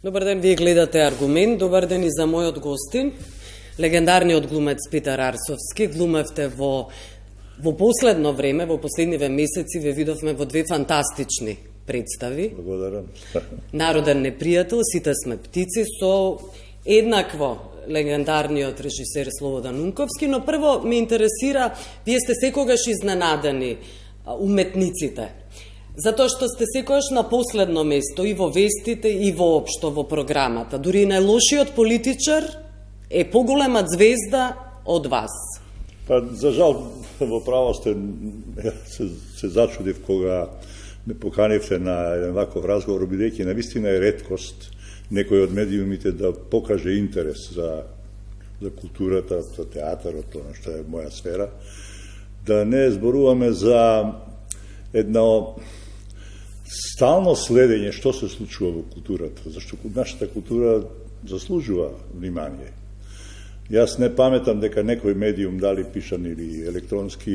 Добар ден, вие гледате Аргумент. Добар ден и за мојот гостин, легендарниот глумец Питер Арсовски. Глумевте во последно време, во последниве месеци, ве видовме во две фантастични представи. Благодарам. Народен непријател, Сите сме птици, со еднакво легендарниот режисер Слободан Унковски, но прво ме интересира, вие сте секогаш изненадени уметниците, затоа што сте секогаш на последно место и во вестите и воопшто во програмата. Дури најлошиот политичар е поголема звезда од вас. Па, за жал, во право сте, се зачудив кога ме поканивте на еден ваков разговор, бидејќи навистина е реткост некој од медиумите да покаже интерес за културата, за театарот, тоа што е моја сфера, да не зборуваме за едно стално следење што се случува во културата, зашто нашата култура заслужува внимание. Јас не паметам дека некој медиум, дали пишан или електронски,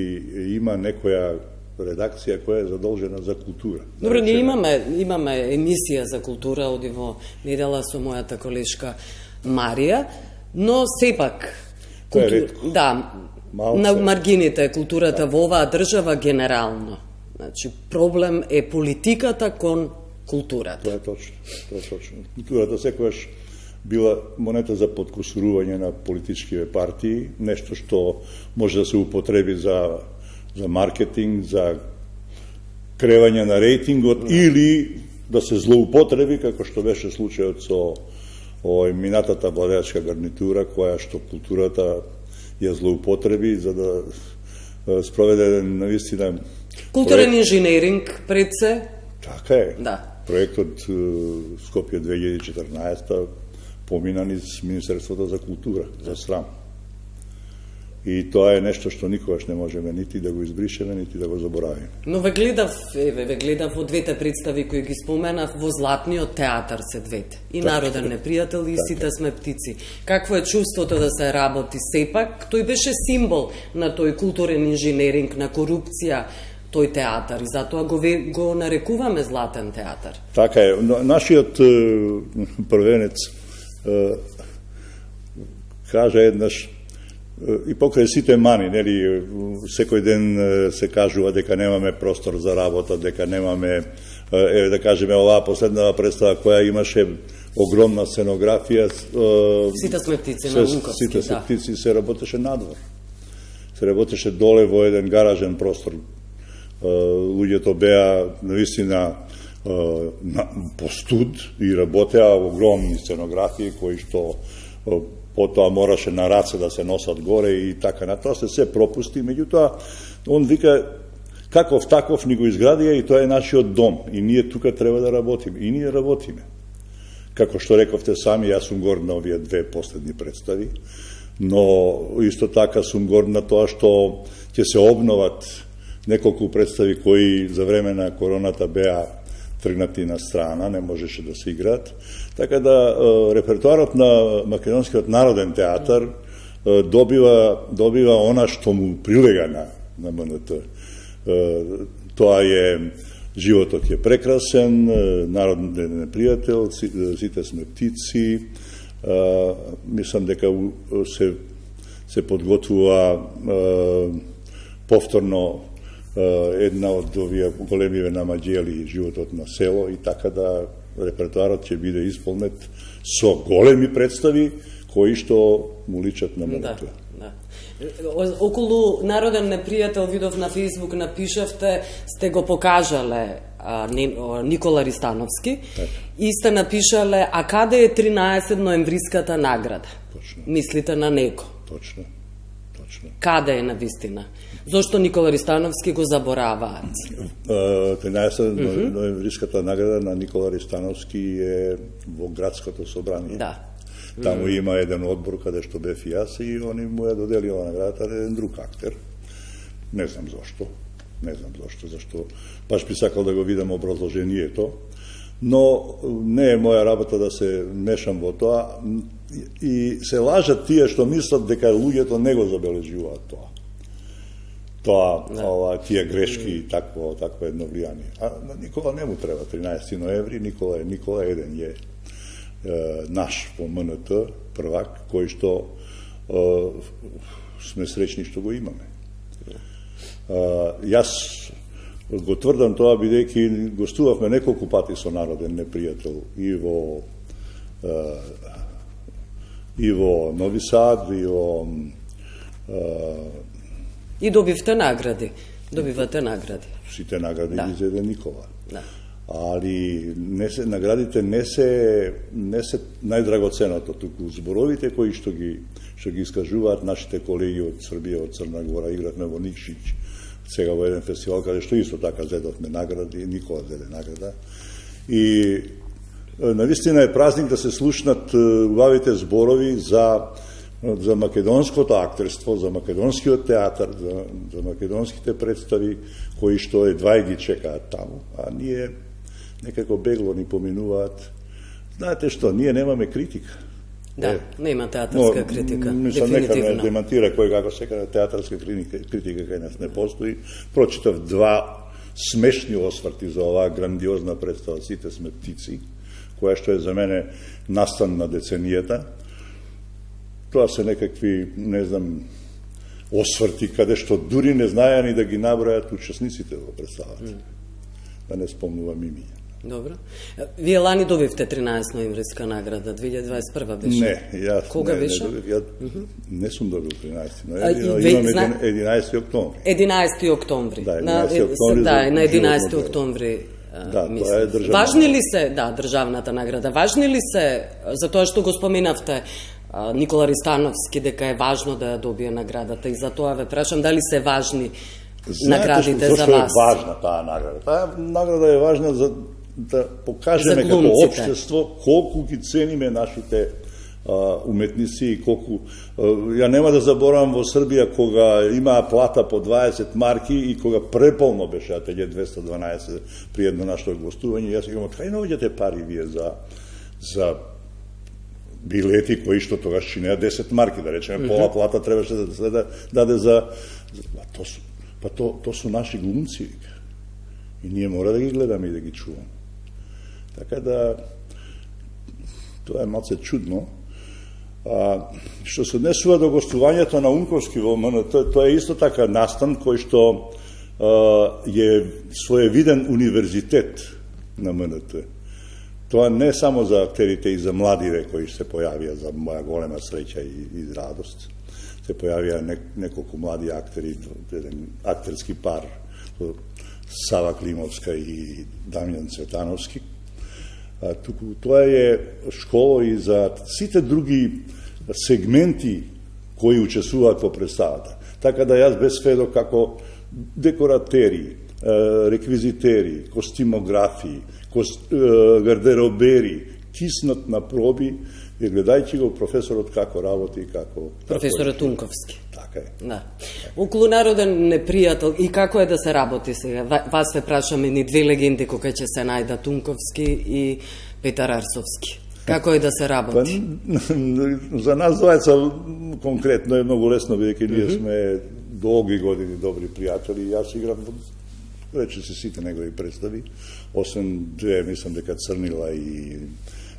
има некоја редакција која е задолжена за култура. Добро, ние имаме емисија за култура, оди во недела со мојата колешка Марија, но сепак да, на маргините културата во оваа држава генерално. Значи, проблем е политиката кон културата. Тоа е точно. Културата секогаш била монета за подкусурување на политичкиве партии, нешто што може да се употреби за маркетинг, за кревање на рейтингот, или да се злоупотреби, како што беше случајот со минатата владеачка гарнитура, која што културата ја злоупотреби за да спроведе навистина културен инженеринг пред се. Така е. Да. Проектот Скопје 2014 помина низ Министерството за култура, за срам. И тоа е нешто што никогаш не можеме нити да го избришеме, нити да го заборавиме. Но ве гледав во двете представи кои ги споменав, во Златниот театар се двете. И Народен непријател и Сите сме птици. Какво е чувството да се работи сепак? Тој беше символ на тој културен инженеринг, на корупција, тој театар, и затоа го нарекуваме Златен театар. Така е. Нашиот првенец кажа еднаш, и покрај сите мани, нели, секој ден се кажува дека немаме простор за работа, дека немаме, да кажеме, оваа последна представа која имаше огромна сценографија. Сите сме птици на Унковски, Сите сме птици се работеше надвор. Се работеше доле во еден гаражен простор. Луѓето беа навистина по студ и работеа огромни сценографии кои што потоа мораше на раце да се носат горе и така на тоа се пропусти. Меѓутоа, он вика, каков таков ни го изградија и тоа е нашиот дом и ние тука треба да работиме. И ние работиме. Како што рековте сами, јас сум горд на овие две последни представи, но исто така сум горд на тоа што ќе се обноват неколку представи кои за време на короната беа тргнати на страна, не можеше да се играат. Така да репертуарот на Македонскиот народен театар добива она што му прилега на МНТ. Тоа е Животот е прекрасен, Народен непријател, Сите сме птици. Мислам дека се подготвува повторно една од овие големиве намаѓели Животот на село, и така да репертуарот ќе биде исполнет со големи представи кои што му личат на МНТ. Да. Околу Народен непријател, видов на Фејсбук, напишавте, сте го покажале Никола Ристановски и сте напишале, а каде е 13 ноемвриската награда? Точно. Мислите на него? Точно. Каде е навистина? Зошто Никола Ристановски го забораваат? 13 ноемвриската награда на Никола Ристановски е во градското собрание. Да. Таму има еден одбор каде што бев и јас и они му ја доделија наградата на еден друг актер. Не знам зошто, зашто баш би сакал да го видам образложението, но не е моја работа да се мешам во тоа и се лажат тие што мислат дека луѓето не го забележуваат тоа. Тие грешки и такво едно влијание. А на Никола не му треба 13 ноември, Никола еден е. наш по МНТ првак, кој што сме среќни што го имаме. Јас го тврдам тоа бидејќи гостувавме неколку пати со народен непријател и во Нови Сад, и добивте награди. Добивате награди. Сите награди ги зеде Никола. Да. Али наградите не се најдрагоценото, туку зборовите кои што ги искажуваат нашите колеги од Србија, од Црна Гора. Игравме во Никшич сега во еден фестивал каде што исто така зедовме награди, Никола зеде награда. И навистина е празник да се слушнат убавите зборови за македонското актерство, за македонскиот театар, за македонските представи кои што едва ги чекаат таму, а ние некако бегло ни поминуваат. Знаете што, ние немаме критика. Да, нема театарска критика, мислам, нека ме дефинитивно. демантира кој како секаде театарска критика кај нас не постои. Прочитав два смешни осврти за оваа грандиозна представа "Сите сме птици", која што е за мене настан на деценијата. Тоа се некакви, не знам, осврти каде што дури не знаеа ни да ги набројат учесниците во представата. Да не спомнувам имиња. Добро. Вие лани добивте 13 ноемвриска награда, 2021 беше? Не, јас Кога беше? Ја не сум добил 13 ноември, имам 11 октомври. 11 октомври. Да, 11 октомври. Да, на 11 октомври. Да, тоа е државна. Важни ли се, да, државната награда, важни ли се, за тоа што го споменавте, Никола Ристановски, дека е важно да ја добие наградата, и за тоа ве прашам дали се важни наградите за вас? Зашто е важна таа награда? Таа награда е важна за да покажеме како општество колку ги цениме нашите уметници и колку... Ја нема да заборавам во Србија кога имаа плата по 20 марки и кога преполно беше ателје 212 при едно наше гостување, јас кажам, кај наоѓате пари вие за билети кои што тогаш чинеа 10 марки, да речеме, пола плата требаше да се даде за... То су наши глумци, и ние мора да ги гледаме и да ги чуваме. Така да, тоа е малце чудно. Што се однесува до гостувањето на Унковски во МНТ, тоа е исто така настан кој што е своевиден универзитет на МНТ. Тоа не само за актерите и за младиве кои се појавија, за моја голема среќа и радост. Се појавија неколку млади актери, еден актерски пар, Сава Климовска и Дамјан Цветановски. Туку тоа е школа и за сите други сегменти кои учесуваат во представата. Така да јас без сведо како декоратери, реквизитери, костимографи, гардеробери, киснат на проби, и гледајќи го професорот како работи, како... Професорот Унковски. Така е. Да. Околу народен непријател, и како е да се работи сега? Вас ве прашаме ни две легенди кога ќе се најдат, Унковски и Петар Арсовски. Како е да се работи? За нас двајца конкретно е многу лесно, бидејќи ние сме долги години добри пријатели. Јас играм рече се сите негови представи, освен две, мислам дека Црнила и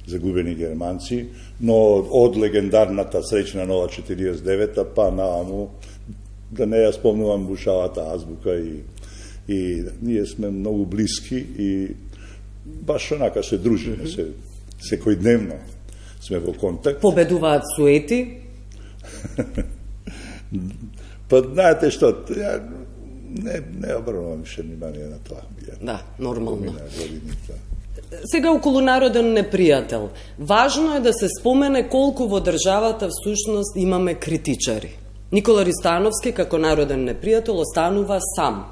Загубени германци, но од легендарната Среќна нова 49-та па нааму, да не ја спомнувам Бушавата азбука, и ние сме многу блиски и баш онака се дружиме, секојдневно сме во контакт. Победуваат суети? Па знаете што, не обрнувам више внимание на тоа. Да, нормално. Сега околу народен непријател. Важно е да се спомене колку во државата всушност имаме критичари. Никола Ристановски како народен непријател останува сам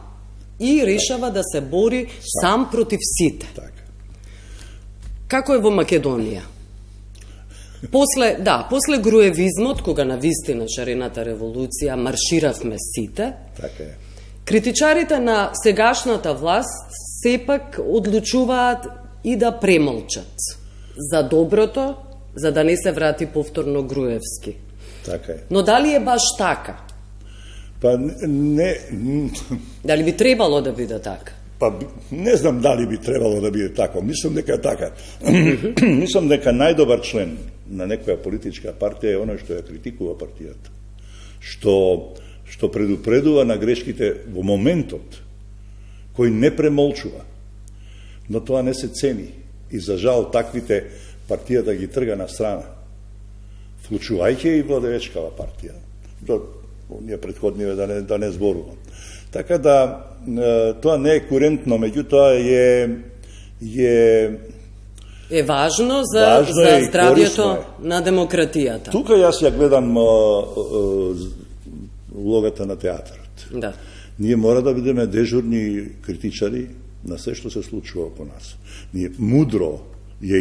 и решава да се бори сам против сите. Така. Како е во Македонија? После груевизмот, кога на вистина шарената револуција марширавме сите, така е. Критичарите на сегашната власт сепак одлучуваат и да премолчат за доброто, за да не се врати повторно Груевски. Така е. Но дали е баш така? Па не... Дали би требало да биде така? Па не знам дали би требало да биде така. Мислам дека е така. Мислам дека најдобар член на некоја политичка партија е оној што ја критикува партијата. Што предупредува на грешките во моментот, кој не премолчува. Но тоа не се цени. И за жал таквите партијата ги трга на страна. Вклучувајќи и владеечкава партија. Ние предходниве да не зборувам. Така да тоа не е курентно, меѓутоа е важно за здравјето на демократијата. Тука јас ја гледам улогата на театарот. Да. Ние мора да бидеме дежурни критичари на се што се случува околу нас. Ние мудро е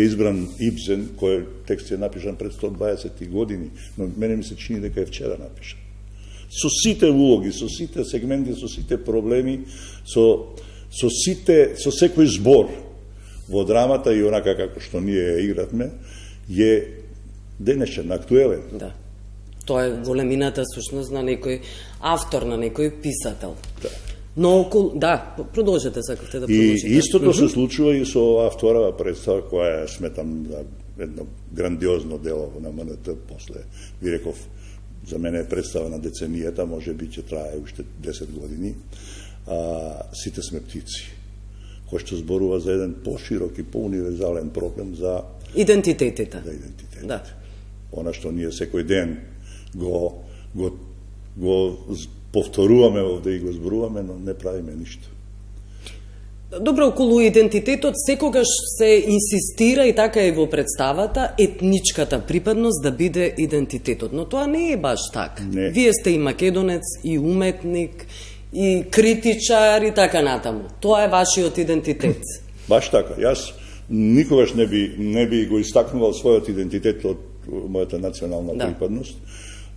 избран Ибсен, кој текст е напишан пред 120 години, но мене ми се чини дека е вчера напишан. Со сите улоги, со сите сегменти, со сите проблеми, со секој збор во драмата и онака како што ние игратме, е денешен, актуелен. Да. Тоа е големината сушност на некој автор, на некој писател. Да. Но продолжете, сакавте да продолжите. И истото се случува и со оваа вторава представа, која сметам за едно грандиозно дело на МНТ после, ви реков, за мене е представа на деценијата, може би ќе трае уште 10 години. Сите сме птици, кој што зборува за еден поширок и поуниверзален проблем за идентитетите. За идентитетите. Да. Она што ние секој ден го повторуваме овде и го зборуваме, но не правиме ништо. Добро, околу идентитетот секогаш се инсистира и така и во представата етничката припадност да биде идентитетот, но тоа не е баш така. Не. Вие сте и македонец, и уметник, и критичар и така натаму. Тоа е вашиот идентитет. Баш така. Јас никогаш не би го истакнувал својот идентитет од мојата национална припадност,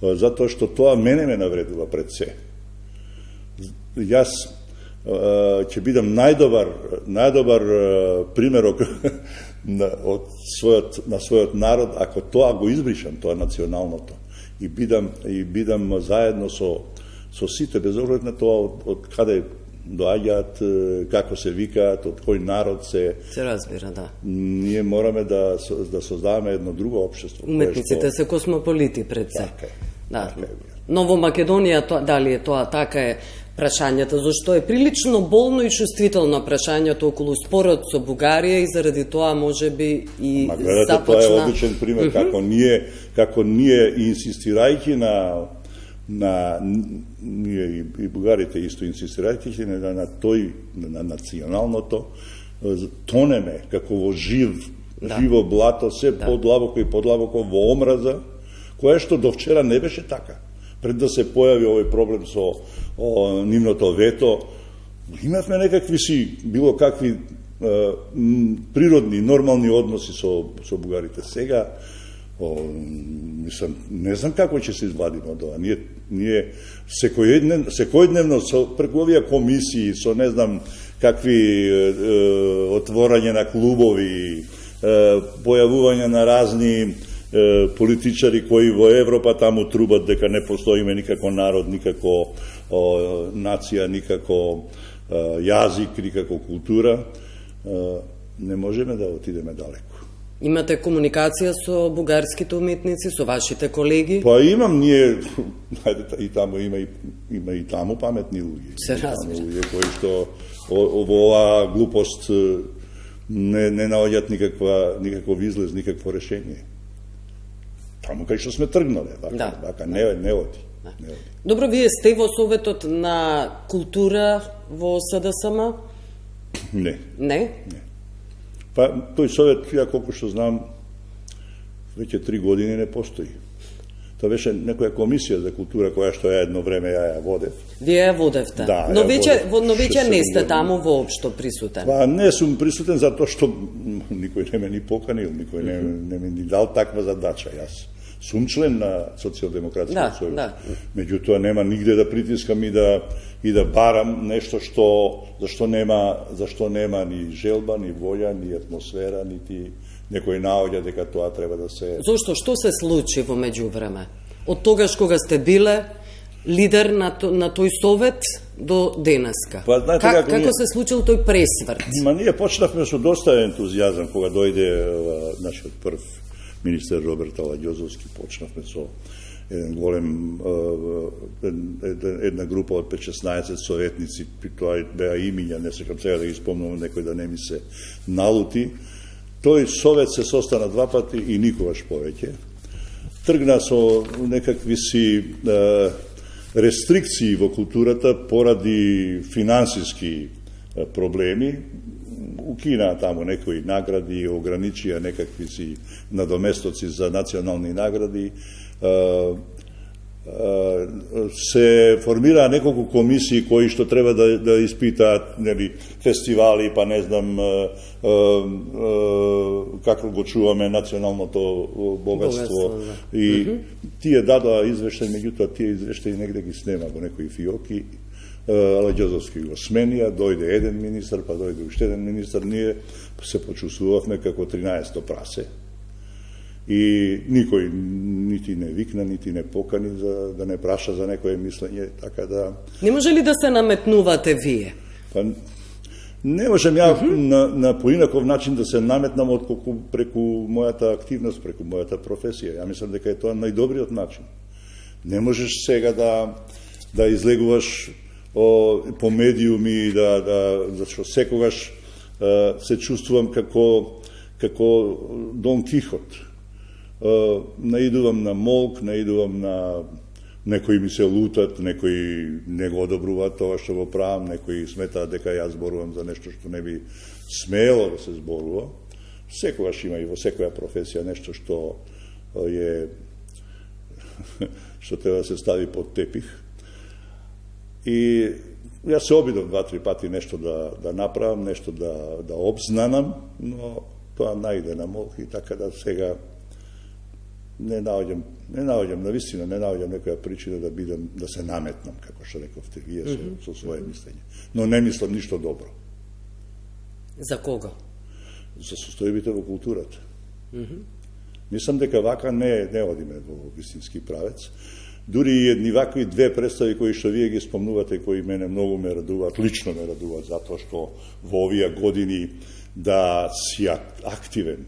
затоа што тоа мене ме навредува пред се. Јас ќе бидам најдобар примерок на својот народ ако тоа го избришам, тоа националното. И бидам заедно со сите, без оглед на тоа од каде доаѓаат, како се викаат, од кој народ се разбира, да. Ние мораме да создаваме едно друго општество. Уметниците се космополити пред се. Така е. Да. Но во Македонија дали е тоа така е прашањето, зашто е прилично болно и чувствително прашањето околу спорот со Бугарија и заради тоа можеби и започна. Тоа е одличен пример како ние инсистирајќи на ние и бугарите исто инсистирајќи на националното, тонеме како во живо блато, се подлабоко и подлабоко во омраза, која што до вчера не беше така. Пред да се појави овој проблем со нивното вето, имавме некакви било какви природни, нормални односи со бугарите. Сега, не знам како ќе се извадиме од ова. Ние секојдневно преку овие комисии, со не знам какви отворање на клубови, појавување на разни политичари кои во Европа таму трубат дека не постоиме никако народ, никако нација, никако јазик, никако култура, не можеме да отидеме далеко. Имате комуникација со бугарските уметници, со вашите колеги? Па имам, ние, и таму има и таму паметни луѓе. Се разбира. Луѓе кои што во оваа глупост не наоѓаат никаков излез, никакво решение. Таму кај што сме тргнале, вака не оди. Добро, вие сте во Советот на култура во СДСМ? Не. Не? Не. Па, тој совет, ја колку што знам, веќе 3 години не постои. Тоа беше некоја комисија за култура која што ја едно време ја водев. Вие ја водевте? Да, но веќе не сте таму воопшто присутен? Па, не сум присутен затоа што никој не ме ни поканил, никој не ми дал таква задача. Јас сум член на Социјалдемократскиот сојуз. Да. Меѓутоа нема нигде да притискам и да барам нешто зашто нема ни желба, ни волја, ни атмосфера, нити некој наоѓа дека тоа треба да се... Зошто? Што се случи во меѓувреме? Од тогаш кога сте биле лидер на тој совет до денеска. Па, знаете, како се случил тој пресврт? Ние почнавме со доста ентузијазам кога дојде нашиот прв министер Роберт Аладјозовски. Почнавме со еден голем една група од 5-16 советници, тоа беа имиња, не секам сега да ги спомнувам, некој да не ми се налути. Тој совет се состана 2 пати и никогаш повеќе. Тргна со некакви си рестрикции во културата поради финансиски проблеми. Укина таму некои награди, ограничија некакви си надоместоци за национални награди. Се формираа неколку комисии кои што треба да испитаат, нели, фестивали, па не знам како го чуваме националното богатство. И тие дадоа извештај, меѓутоа тие извештаи негде ги снема во некои фиоки. Аладјозовски го сменија, дојде еден министар, па дојде уште еден министар, ние се почувствувавме како 13-то прасе. И никој нити не викна, нити не покани за да не праша за некое мислење, така да... Не може ли да се наметнувате вие? Па, не можем ја на поинаков начин да се наметнам отколку преку мојата активност, преку мојата професија. Ја мислам дека е тоа најдобриот начин. Не можеш сега да излегуваш по медиуми, зашто секогаш се чувствувам како Дон Кихот. Наидувам на молк, наидувам на некои ми се лутат, некои не го одобруваат тоа што го правам, некои сметаат дека јас зборувам за нешто што не би смело да се зборува. Секогаш има и во секоја професија нешто што треба да се стави под тепих. И јас се обидов 2-3 пати нешто да направам, нешто да обзнанам, но тоа најде на молк и така да сега не наоѓам, навистина не наоѓам некоја причина да се наметнам, како што рековте вие со свое мислење. Но не мислам ништо добро. За кого? За состојбите во културата. Мислам дека вака не одиме во вистински правец. Дури и едни вакви 2 представи кои што вие ги спомнувате, кои мене многу ме радуваат, лично ме радуваат, затоа што во овие години да си активен.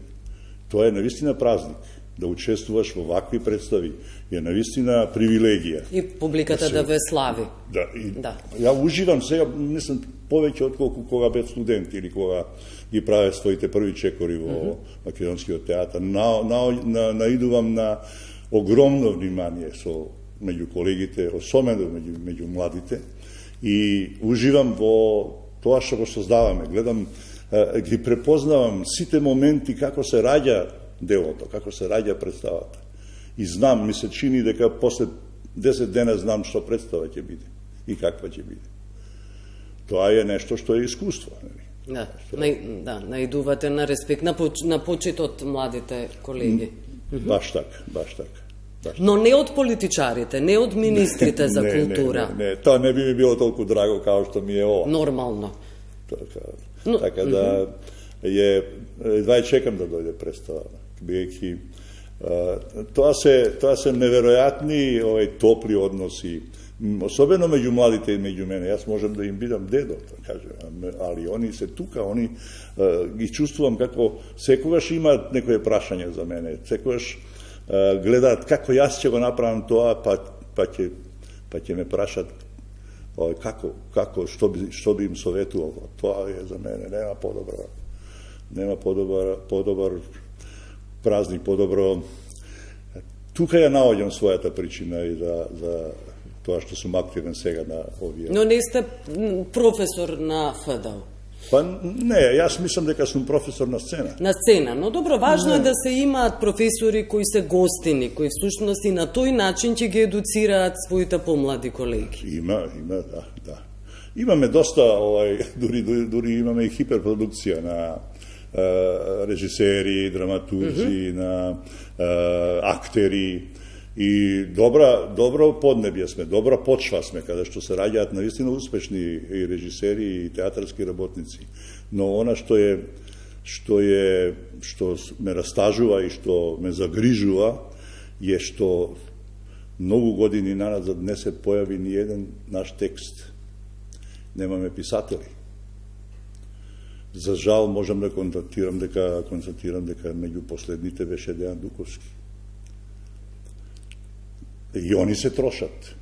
Тоа е навистина празник. Да учествуваш во вакви представи е навистина привилегија. И публиката да ве слави. Да. Ја уживам сега, мислам, повеќе отколку кога бев студент или кога ги правев своите први чекори во Македонскиот театар. Наидувам на огромно внимание меѓу колегите, особено меѓу младите, и уживам во тоа што го создаваме. Гледам, ги препознавам сите моменти како се раѓа делото, како се раѓа представата. И знам, ми се чини дека после 10 дена знам што представа ќе биде и каква ќе биде. Тоа е нешто што е искуство. Да, наидувате на респект, на почит од младите колеги. Баш така. Но не од политичарите, не од министрите за култура. Не, тоа не би ми било толку драго како што ми е ова. Нормално. Така да едва чекам да дојде представа. Биејќи тоа се неверојатни топли односи, особено меѓу младите и меѓу мене. Јас можам да им бидам дедо, али они се тука, они ги чувствувам како секогаш имаат некое прашање за мене, секогаш гледаат како јас ќе го направам тоа, па ќе ме прашат како што би им советувал. Тоа е за мене, нема подобар празник, подобро. Тука ја наоѓам својата причина и за тоа што сум активен сега на овие. Но не сте професор на ФДУ? Па не, јас мислам дека сум професор на сцена. На сцена, но добро, важно е да се имаат професори кои се гостини, кои всушност и на тој начин ќе ги едуцираат своите помлади колеги. Има, да. Имаме доста, дури имаме и хиперпродукција на режисери, драматурзи, на актери, и добро поднебје сме, добра почва сме, каде што се раѓаат навистина успешни и режисери и театарски работници. Но она што ме растажува и што ме загрижува е што многу години наназад не се појави ни еден наш текст. Немаме писатели. За жал можам да констатирам дека меѓу последните беше Дејан Дуковски. И они се трошат.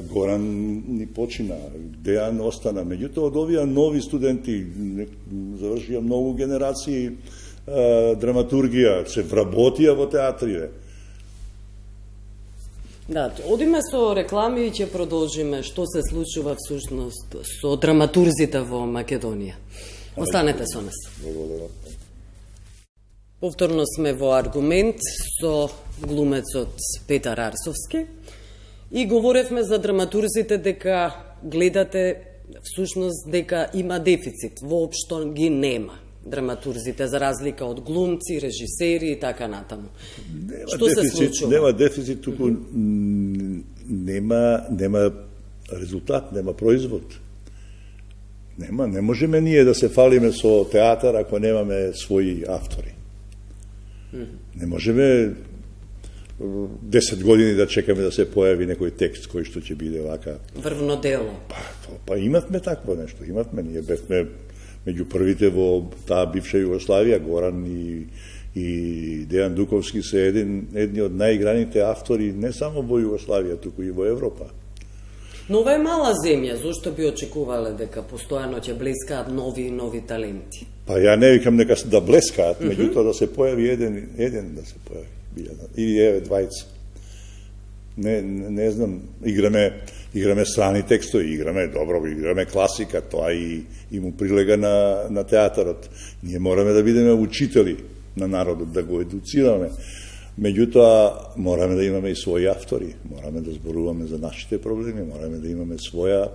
Горан ни почина, Дејан остана. Меѓутоа, од овие нови студенти, завршија многу генерации драматургија, се вработија во театриве. Да, одиме со реклами и ќе продолжиме што се случува всушност со драматурзите во Македонија. Останете со нас. Благодарам. Повторно сме во Аргумент со глумецот Петар Арсовски и говоревме за драматурзите дека гледате всушност дека има дефицит. Воопшто ги нема драматурзите за разлика од глумци, режисери и така натаму. Што се случува? Нема дефицит, туку нема резултат, нема производ. Не можеме ние да се фалиме со театар ако немаме своји автори. Не можеме 10 години да чекаме да се појави некој текст кој што ќе биде вака. Врвно дело. Па имавме такво нешто, ние бевме меѓу првите во таа бивша Југославија, Горан и Дејан Дуковски се едни од најиграните автори не само во Југославија, туку и во Европа. Но ова е мала земја, зошто би очекувале дека постојано ќе блескаат нови и нови таленти? Па ја не викам нека да блескаат, меѓутоа да се појави еден да се појави, или еве двајца. Не знам, играме страни текстови, играме класика, тоа и му прилега на театарот. Ние мораме да бидеме учители на народот, да го едуцираме. Меѓутоа, мораме да имаме и своји автори, мораме да зборуваме за нашите проблеми, мораме да имаме своји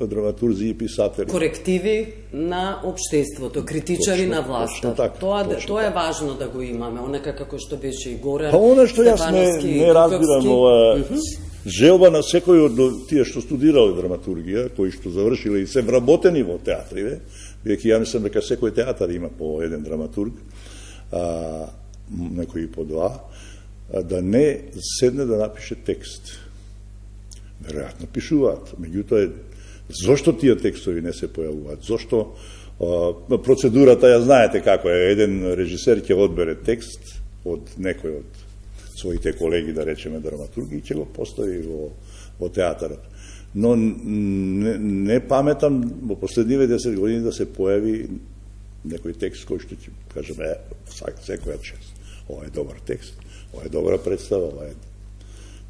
драматурзи и писатели. Корективи на општеството, критичари на власта. Тоа е важно да го имаме, онака како што беше и Горан. Па она што јас не разбирам, ова желба на секој од тие што студирале драматургија, кои што завршиле и се вработени во театриве, бидејќи ја мислам дека секој театар има по еден драматург, некои по два, да не седне да напише текст. Веројатно пишуваат, меѓутоа зошто тие текстови не се појавуваат? Зошто процедурата ја знаете како е, еден режисер ќе одбере текст од некој од своите колеги, да речеме драматурги, и ќе го постави во театарот. Но не паметам во последниве 10 години да се појави некој текст кој што ќе кажеме секоја чест. Ова е добар текст, ова е добра представа, ова е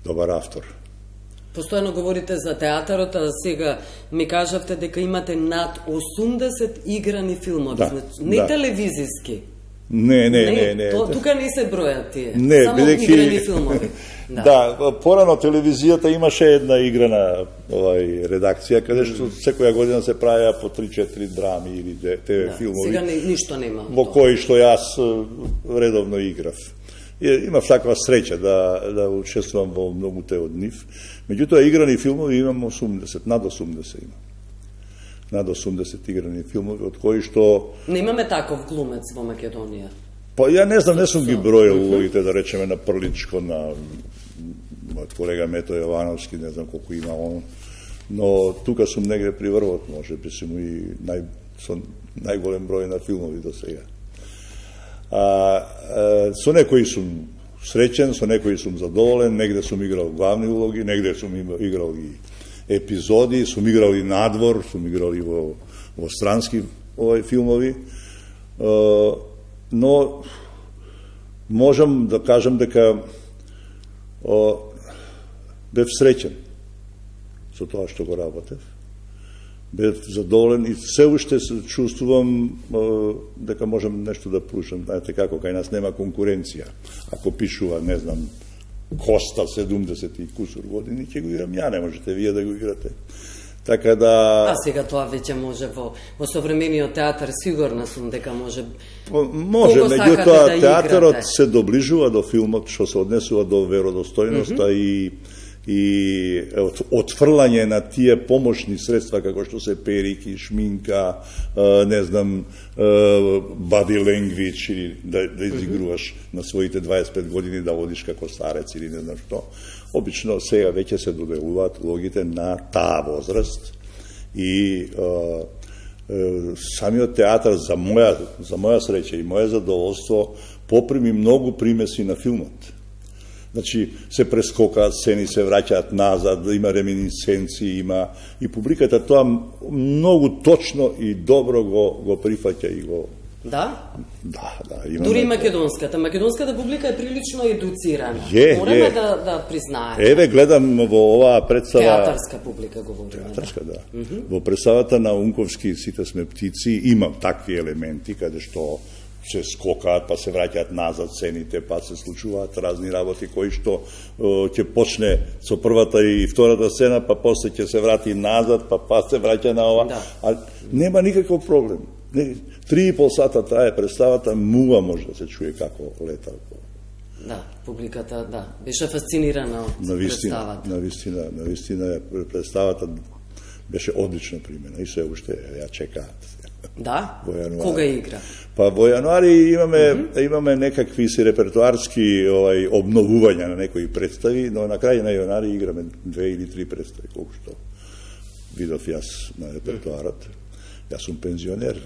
добар автор. Постојано говорите за театарот, а сега ми кажавте дека имате над 80 играни филмови, не телевизиски. Не. Тука не се бројат тие, само играни филмови. Да, порано телевизијата имаше една играна редакција, каде што секоја година се правеа по 3-4 драми или ТВ филмови. Сега ништо нема. Во кои што јас редовно играв. Имав таква среќа да учествувам во многуте од нив. Меѓутоа, играни филмови имам 80, над 80 имам. Над 80 играни филмови, од кои што... Немаме таков глумец во Македонија? Па ја не знам, не сум ги бројал улогите, да речеме, на Прличко, на мојот колега Мето Јовановски, не знам колку има он, но тука сум негде при врвот, може би сум и со најголем број на филмови до сега. Со некои сум среќен, со некои сум задоволен, негде сум играл главни улоги, негде сум играл и епизоди, сум играл и надвор, сум играл и во странски филмови, но можам да кажам дека бев среќен со тоа што го работев. Бев задоволен и се уште се чувствувам дека можам нешто да прушам. Знаете како, кај нас нема конкуренција. Ако пишува, не знам, Коста 70 и кусур години, ќе го играм ја, не можете вие да го играте. Така да... А сега тоа веќе може во современиот театар, сигурна сум дека може... Може, меѓутоа театарот се доближува до филмот, што се однесува до веродостојноста и и отфрлање на тие помошни средства како што се перики, шминка, не знам, body language или да изигруваш на своите 25 години да одиш како старец или не знам што. Обично сега веќе се доделуваат улогите на таа возраст и самиот театар за моја среќа и моје задоволство поприми многу примеси на филмот. Значи, се прескокаат сцени, се враќаат назад, има реминисценции, има и публиката тоа многу точно и добро го прифаќа и го... Да? Да. Дури и македонската публика е прилично едуцирана. Мораме да признаеме. Еве, гледам во оваа представа... Театарска публика говориме. Театарска, да. Во представата на Унковски Сите сме птици има такви елементи, каде што се скокаат, па се враќаат назад сцените, па се случуваат разни работи кои што ќе почне со првата и втората сцена, па после ќе се врати назад, па се враќа на ова. Да. А нема никаков проблем. 3,5 сата трае представата, мува може да се чуе како лета. Да, публиката, да, беше фасцинирана од представата. Навистина, представата беше одлично примена и се уште ја чекаат. Да? Кога игра? Па во јануари имаме некакви си репертуарски обновувања на некои представи, но на крај на јануари играме 2 или 3 представи, колку што видов јас на репертуарот. Јас сум пензионер.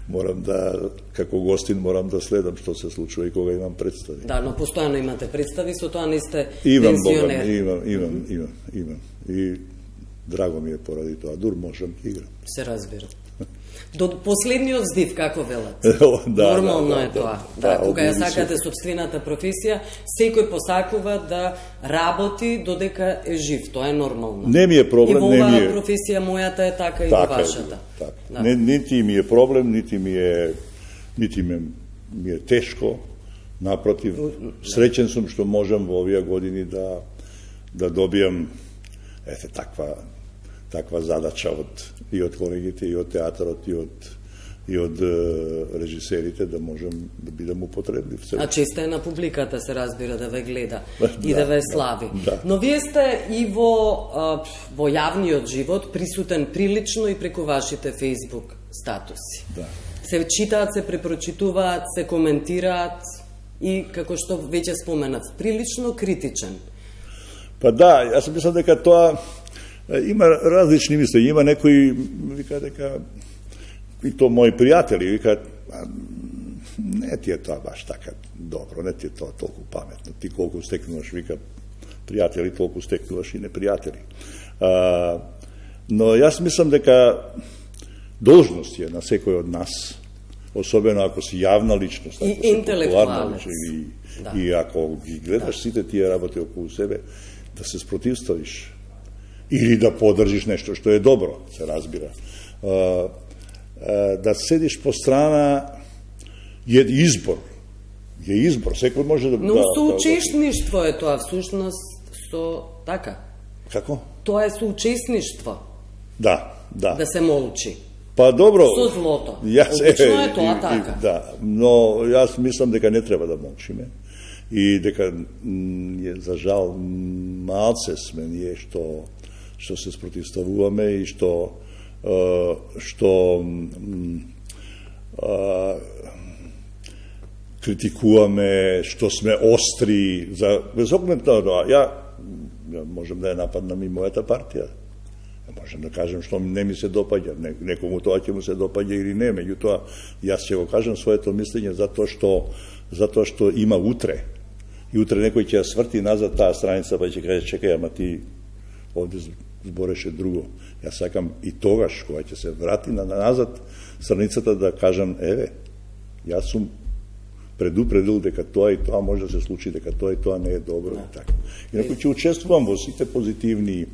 Морам да, како гостин, морам да следам што се случува и кога имам представи. Да, но постојано имате представи, со тоа не сте пензионер. Имам. И драго ми е поради тоа. Дур можам да играм. Се разбира. До последниот здив, како велат. Нормално е тоа. Да, кога ја сакате собствената професија, секој посакува да работи додека е жив. Тоа е нормално. Не ми е проблем, не ми е. И во оваа професија мојата е така и во вашата. Така. Нити ми е проблем, нити ми е тешко. Напротив, среќен сум што можам во овие години да добијам таква задача и од колегите, и од театарот, и од режисерите, да можам да бидам употреблив. А често е на публиката, се разбира, да ве гледа и да ве слави. Да. Но вие сте и во јавниот живот присутен прилично и преку вашите Facebook статуси. Да. Се читаат, се препрочитуваат, се коментираат и, како што веќе споменав, прилично критичен. Па да, јас мислам дека тоа има различни мисли. Има некои, вика дека, и то мои пријатели, вика, не ти е тоа баш така добро, не ти е тоа толку паметно. Ти колку стекнуваш, вика, пријатели, толку стекнуваш и непријатели. Но јас мислам дека должност е на секој од нас, особено ако си јавна личност, и интелектуалец. И ако ги гледаш сите тие работи околу себе, да се спротивставиш или да поддржиш нешто што е добро, се разбира. Да седиш по страна е избор. Е избор, секој може да... Но соучесништво е тоа, всушност, со така. Како? Тоа е соучесништво. Да. Да се молчи. Па добро. Со злото. Обично е тоа така. Да, но јас мислам дека не треба да молчиме. И дека, за жал, малце сме ние што се спротивставуваме и што критикуваме, што сме остри, без оглед на тоа. Ја можам да ја нападнам и мојата партија. Можем да кажем што не ми се допаѓа, некому тоа ќе му се допаѓа или не, меѓутоа јас ќе го кажам своето мислење затоа што има утре. И утре некој ќе ја сврти назад таа страница, па ќе каже чекај, ама ти овде збореше друго. Јас сакам и тогаш кога ќе се врати назад страницата да кажам еве, јас сум предупредил дека тоа и тоа може да се случи, дека тоа и тоа не е добро и така. Инаку ќе учествувам во сите позитивни,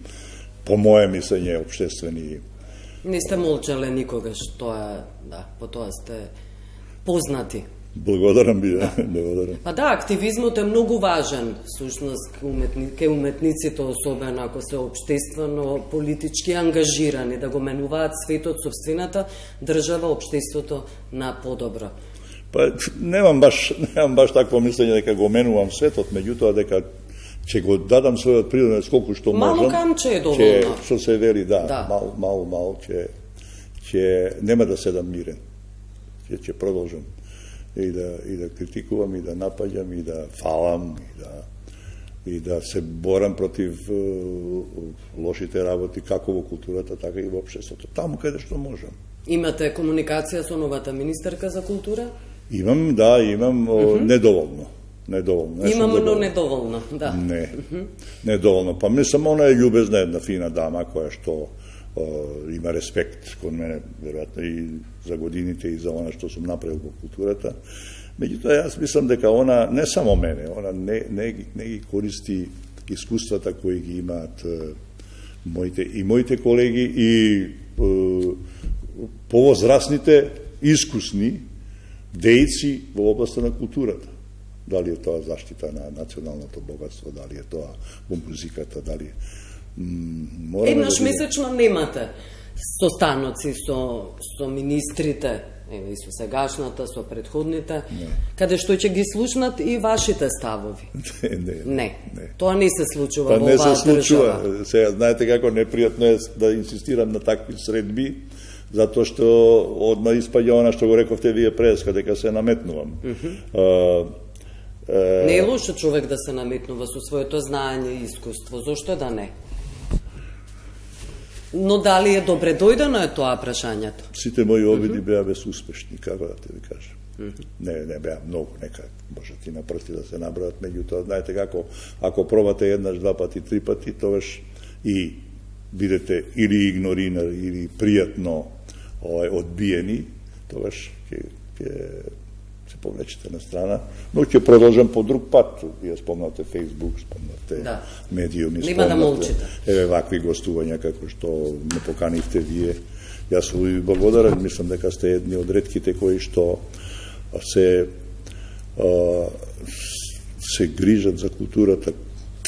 по моје мислење, општествени. Не сте молчале никогаш, тоа, да, по тоа сте познати. Благодарам би, да. Благодарам. Па да, активизмот е многу важен, всушност, кај уметниците, особено ако се општествено, политички ангажирани, да го менуваат светот, собствената држава, општеството на подобро. Па немам баш такво мислење дека го менувам светот, меѓутоа дека ќе го дадам својот принос колку што можам. Мало камче е доволно. Што се вели, да. Мало, ќе нема да седам мирен. Ќе продолжам и да критикувам, и да напаѓам, и да фалам, и да се борам против лошите работи, како во културата, така и во општеството. Таму каде што можам. Имате комуникација со новата министерка за култура? Имам, недоволно. Имам, но недоволно, да. Недоволно. Па мислам, она е љубезна една фина дама, која што има респект кон мене, веројатно и за годините и за она што сум направил во културата. Меѓутоа, јас мислам дека она, не само мене, она не ги користи искуствата кои ги имаат моите колеги и повозрасните, искусни дејци во областта на културата. Дали е тоа заштита на националното богатство, дали е тоа во музиката, дали... Еднаш месечно немате состаноци со министрите, и со сегашната, со предходните, каде што ќе ги слушнат и вашите ставови. Не. Тоа не се случува во оваа држава. Сега, знаете како непријатно е да инсистирам на такви средби, затоа што одма испаѓа она што го рековте вие преска, дека се наметнувам. Не е лошо човек да се наметнува со своето знаење и искуство, зошто да не? Но дали е добре дојдено е тоа прашањето? Сите мои обиди беа безуспешни, како да ти ви кажам. Не беа многу, нека може ти на прсти да се набројат, меѓутоа, знаете како, ако пробате еднаш, два пати, три пати, тогаш и бидете или игнорирани, или пријатно одбиени, тогаш ќе се повлечете на страна, но ќе продолжам по друг пат. Вие спомнате Facebook, спомнате медиуми, спомнате вакви гостувања како што ме поканивте вие. Јас ви благодарам, мислам дека сте едни од ретките кои што се грижат за културата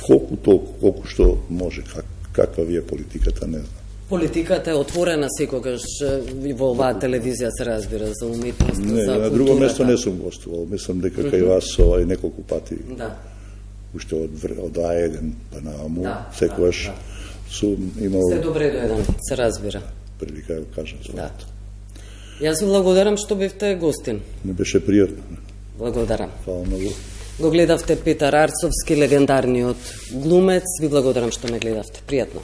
колку што може. Каква ви е политиката, не знам. Политиката е отворена секогаш во оваа телевизија, се разбира, за уметност, за културата. На друго место не сум гостувал. Мислам дека кај вас неколку пати. Да. Уште од А1 па нааму, секогаш сум имал... Се добре дојден, се разбира. Прилика да кажам своето. Јас ви благодарам што бевте гостин. Не беше пријатно. Благодарам. Фала многу. Го гледавте Петар Арцовски, легендарниот глумец. Ви благодарам што ме гледавте. Пријатно.